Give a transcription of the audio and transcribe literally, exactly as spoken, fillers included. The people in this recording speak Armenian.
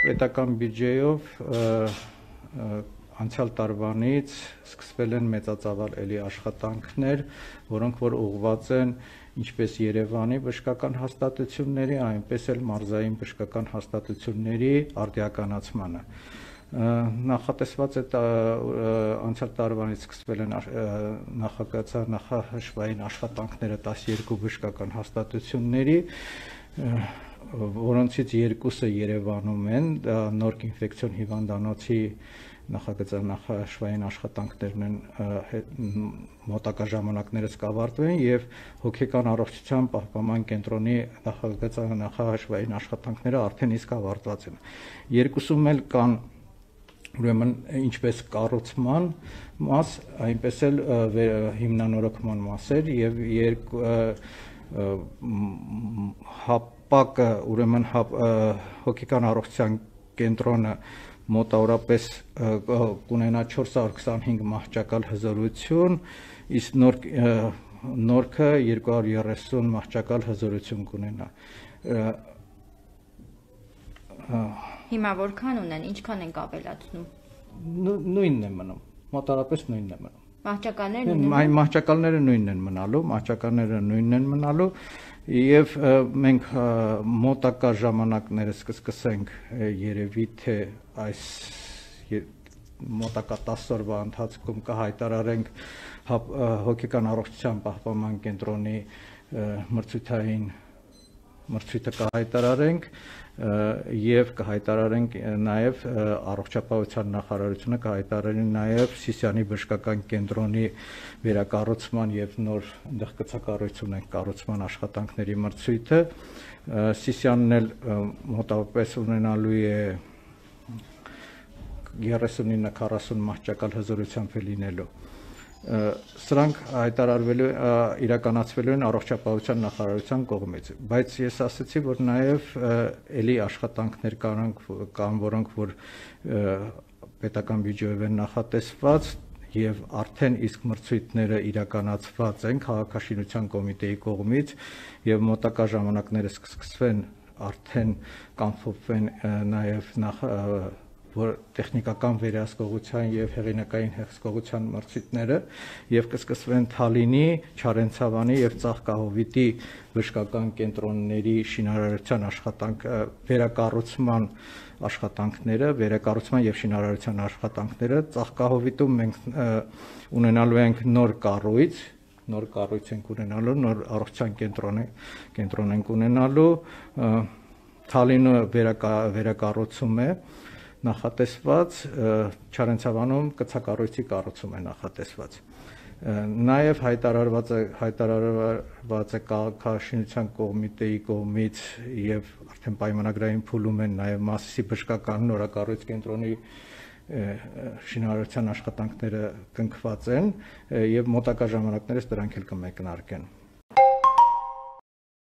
պետական բյուջեով անցյալ տարվանից սկսվել են մեծածավալ էլի աշխատանքներ, որոնք որ ուղղված են ինչպես Երևանի բժշկական հաստատությունների, այնպես էլ մարզային բժշկական հաստատությունների արդիականացմանը։ Նախատեսված է անցյալ տարվանից սկսվել են նախագծած նախահաշվային աշխատանքները տասներկու բժշկական հաստատությունների, որոնցից երկուսը Երևանում են, նոր ինֆեկցիոն հիվանդանոցի նախագծած նախահաշվային աշխատանքներն են մոտակա ժամանակներս կավարտվեն եւ հոգեկան առողջության պահպանման կենտրոնի նախագծած նախահաշվային աշխատանքները արդեն իսկ ավարտված են։ Երկուսում էլ կան ուրեմն ինչպես կառուցման մաս, այնպես էլ հիմնանորոգման մասեր եւ երկու հապակը ուրեմն հոգեկան առողջության կենտրոնը մոտավորապես կունենա չորս հարյուր քսանհինգ մահճակալ հզորություն, իսկ նոր նորքը երկու հարյուր երեսուն մահճակալ հզորություն կունենա։ Հիմա որքան ունեն, ինչքան ենք ավելացնում։ Նույնն է մնում, մոտավորապես նույնն է մնում։ Մահճակալները նույնն են։ Այն մահճակալները նույնն են մնալու, մահճակալները նույնն են մնալու եւ մենք մոտակա ժամանակներս կսկսենք երևի թե այս մոտակա տասը օրվա ընթացքում կհայտարարենք հոգեկան առողջության պահպանման կենտրոնի մրցութային մրցույթը կհայտարարենք եւ կհայտարարենք նաեւ առողջապահության նախարարությունը կհայտարարի նաեւ Սիսիանի բժշկական կենտրոնի վերակառուցման եւ նոր այնտեղ կցակառույց ունենք կառուցման աշխատանքների մրցույթը։ Սիսիանն էլ մոտավորապես ունենալու է երեսունինը քառասուն մահճակալ հզորությամբ լինելու։ Սրանք հայտարարվելու իրականացվելու են առողջապահության նախարարության կողմից, բայց ես ասացի, որ նաև էլի աշխատանքներ կան, որոնք որ պետական բյուջեով են նախատեսված եւ արդեն իսկ մրցույթները իրականացված են քաղաքաշինության կոմիտեի կողմից եւ մոտակա ժամանակներս կսկսվեն արդեն կանփոփվեն նաև նախ որ տեխնիկական վերահսկողության եւ հեղինակային հսկողության մրցույթները եւ կսկսվեն Թալինի, Չարենցավանի եւ Ծաղկահովիտի բժշկական կենտրոնների շինարարության աշխատանք վերակառուցման աշխատանքները, վերակառուցման եւ շինարարության աշխատանքները Ծաղկահովիտում մենք ունենալու ենք նոր կառույց, նոր կառույց ենք ունենալու, նոր առողջության կենտրոն է, կենտրոն ենք ունենալու, Թալինը վերակառուցում է նախատեսված, Չարենցավանում կցակառույցի կառուցում է նախատեսված։ Նաև հայտարարված է հայտարարված է քաղաքաշինության կոմիտեի կողմից եւ արդեն պայմանագրային փուլում են նաև Մասիսի բժշկական նորակառույց կենտրոնի շինարարության աշխատանքները կնքված են եւ մոտակա ժամանակներս դրանք էլ կմեկնարկեն։